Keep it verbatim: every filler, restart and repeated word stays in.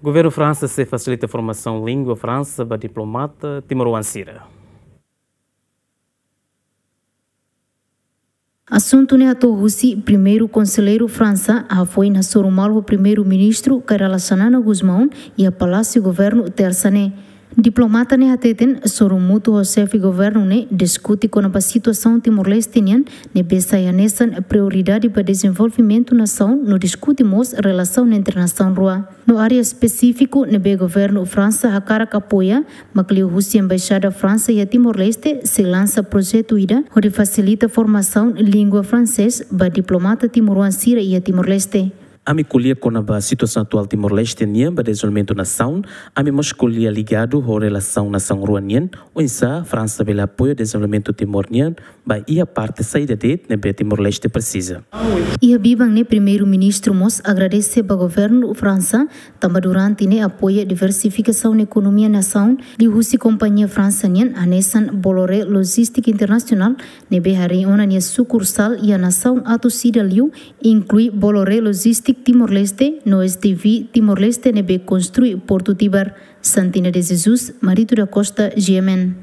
Governu Fransa sei fasilita formasaun língua Fransa ba diplomata timoroan sira. Asuntu ne'e hato'o husi Primeiru Konselleiru Fransa hafoin hasoru malu ho Primeiru-Ministru Kay Rala Xanana Gusmão iha Palásiu Governu, Tersa ne'e. Diplomata ne'e hateten hasoru mutu ho Xefe Governu ne'e diskute kona-ba situasaun Timor-Leste nian, ne'ebé sai hanesan prioridade ba dezenvolvimentu nasaun, no diskute mós relasaun entre nasaun rua. No área espesífiku ne'ebé Governu Fransa hakarak apoia, mak liuhusi Embaixada Fransa iha Timor-Leste sei lansa projetu ida hodi fasilita formasaun língua fransés ba diplomata timoroan sira iha Timor-Leste. Ami ko'alia kona-ba situasaun atuál Timor-Leste nian ba dezenvolvimentu nasaun, ami mós ko'alia ligadu ho relasaun nasaun rua nian, oinsá Fransa bele apoia dezenvolvimentu Timor nian ba iha parte saida de'it ne'ebé Timor-Leste presiza. Iha biban ne'e Primeiru-Ministru mós agradese ba Governu Fransa, tanba durante ne'e apoia diversifikasaun ekonomia nasaun, liuhusi kompañia Fransa nian hanesan Bolloré Logistique International, ne'ebé harii ona nia sukursál iha nasaun atus ida liu, inklui Bolloré Logistique Timor-Leste, no S D V Timor-Leste ne'ebé konstrui Portu Tibar. Santina de Jesus, Marito da Costa, G M N.